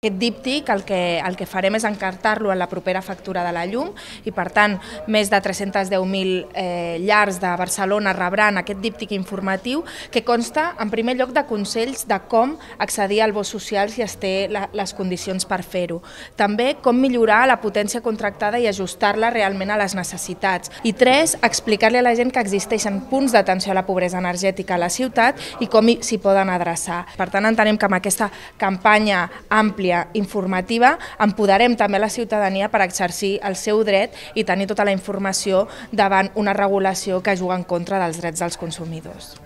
Aquest díptic el que farem és encartar-lo en la propera factura de la llum i, per tant, més de 310.000 llars de Barcelona rebran aquest díptic informatiu que consta, en primer lloc, de consells de com accedir al bo social si es té les condicions per fer-ho. També com millorar la potència contractada i ajustar-la realment a les necessitats. I 3, explicar-li a la gent que existeixen punts d'atenció a la pobresa energètica a la ciutat i com s'hi poden adreçar. Per tant, entenem que amb aquesta campanya àmplia informativa empoderem també la ciutadania per exercir el seu dret i tenir tota la informació davant una regulació que juga en contra dels drets dels consumidors.